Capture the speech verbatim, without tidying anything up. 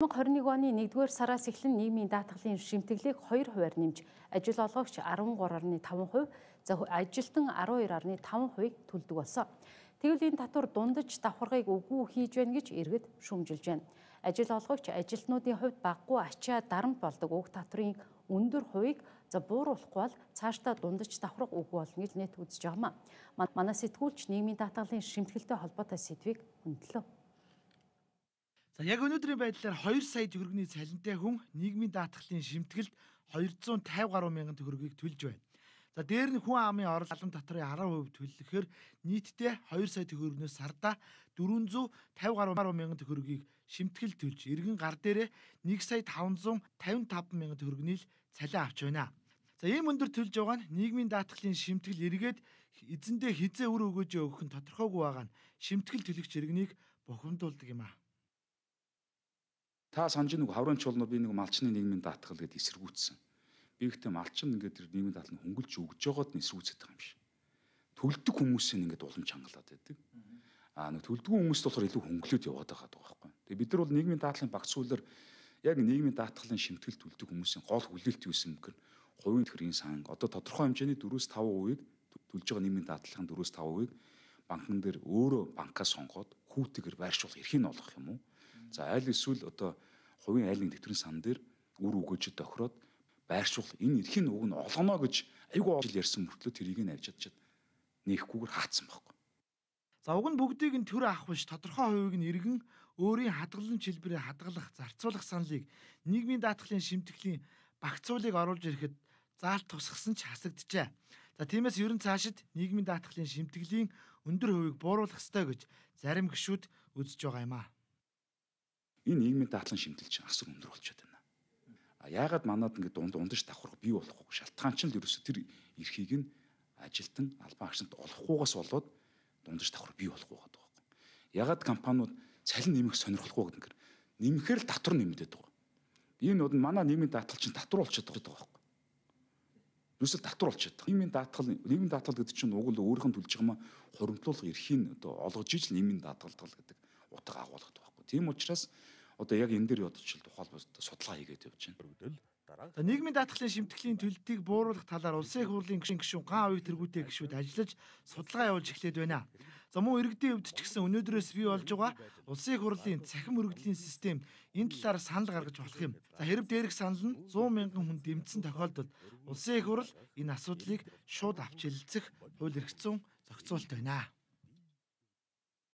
две тысячи двадцать один оны нэгдүгээр сараас эхлэн нийгмийн даатгалын шимтгэлийг хоёр хувиар нэмж, ажил олгогч арван гурав гаруй таван хувь, за ажилтан арван хоёр гаруй таван хувийг төлдөг болсон. Тэгвэл энэ татвар дундаж давхаргыг үгүй хийж байна гэж иргэд шүүмжилж байна. Ажил олгогч ажилтнуудын хувьд багагүй ачаа дарамт болдог уг татврын өндөр хувийг за бууруулахгүй бол цаашдаа дундаж давхарга үгүй болно гэж нэт үзэж байгаа юм. Манай сэтгүүлч нийгмийн даатгалын шимтгэлтэй холбоотой сэдвийг хөндлөө. За яг өнөөдрийн байдлаар хоёр сая төгрөгийн цалинтай хүн нийгмийн даатгалын шимтгэлд двести пятьдесят гаруй мянган төгрөгийг төлж байна. За дээр нь хүн амын орлон татрын арав хувь төлөхөөр нийтдээ хоёр сая төгрөгнөөс сардаа дөрвөнзүү тавин гаруй мянган төгрөгийг шимтгэл төлж, иргэн гар дээрээ нэг сая тавнзуу тавин таван мянган төгрөгний л цалин авч байна. За ийм өндөр төлж байгаа нь нийгмийн даатгалын шимтгэл эргээд эзэндээ хизээ өр өгөөж өгөх нь тодорхойгүй байгаа нь шимтгэл төлөгч иргэнийг бухимдуулдаг юм а. Та санаж нэг хаврын чуулнууд би нэг малчны нийгмийн даатгал гэдээ эсэргүүцсэн. Би ихтэй малчин ингээд тэр нийгмийн даатгалыг хөнгөлж өгж байгаад нь эсэргүүцээд байгаа юм шиг. Төлдөг хүмүүсийн ингээд уламж хангалаад байдаг. Аа нэг төлдгөө хүмүүст болохоор илүү хөнгөлөд яваад байгаа байхгүй. Тэгээ бид нар бол нийгмийн даатгалын багц суулаар яг нийгмийн даатгалын шимтгэл төлдөг хүмүүсийн гол хүлээлт юу юм гэхээр хувийн төрийн сан одоо тодорхой хэмжээний дөрвөөс таван хувийг төлж байгаа нийгмийн даатгалын дөрвөөс таван хувийг банкн дээр өөрөө банкаас сонгоод хүүтэйгээр байршуулах эрхийг нь олгох юм уу? За айл эсвэл одоо хувийн айлын тэтгэврийн сан дээр үр өгөөжөд тохироод байршуул энэ эрхийн үг нь олгоно гэж айгүй жил ярьсан мөртлөө тэрийг нь авч чадчихэд нээхгүйгээр хаацсан байхгүй. За уг нь бүгдийг нь төр авах биш тодорхой хувийг нь иргэн өөрийн хадгалан чилбэрээр хадгалах, зарцуулах саналыг нийгмийн даатгалын шимтгэлийн багцуулыг оруулж ирэхэд заалт тусгасан ч хасагджээ. За тиймээс ерөн цаашид нийгмийн даатгалын шимтгэлийн өндөр хувийг бууруулах ёстой гэж зарим гишүүд үзэж байгаа юм а. Энэ нийгмийн даатгалын шимтгэл чинь асар өндөр болчиход байна. А яагаад манад ингэ дунд ундаж давхарга бий болохгүй шалтгаан чинь л ерөөсө тэр эрхийг нь ажилтан албан агшинт олохгүйгаас болоод дундаж давхарга бий болохгүй байгаа байхгүй. Яагаад компаниуд цалин нэмэх сонирхолгүй гэдэг нь нэмэхээр л татвар нэмэгдээд байгаа. Энэ бол манай нийгмийн даатгал чинь татвар болчиход байгаа байхгүй. Юусэл татвар болчиход байгаа. Нийгмийн даатгал нийгмийн даатгал гэдэг чинь уг л өөрийнх нь төлж байгаа маа хуримтлуулах эрхийг одоо олгож ижил нийгмийн даатгал гэдэг утга агуулгад байхгүй. Тийм учраас одоо яг энэ дээр ядчил тухайлбал судалгаа хийгээд явж байна. За нийгмийн даатгалын шимтгэлийн төлөлтийг бууруулах талаар улсын их хурлын гишүүн ган хувийг тэргүүтэй гишүүд ажиллаж судалгаа явуулж эхлээд байна. За мөн иргэдийн хувьд ч гэсэн өнөөдрөөс бий болж байгаа улсын их хурлын цахим мөрөгдлийн систем энэ талаар санал гаргаж болох юм. За хэрэг дээрх санал нь сто мянган хүн дэмжсэн тохиолдолд улсын их хурл энэ асуудлыг шууд авч хэлэлцэх хууль эрх зүйн зохицуулт байна.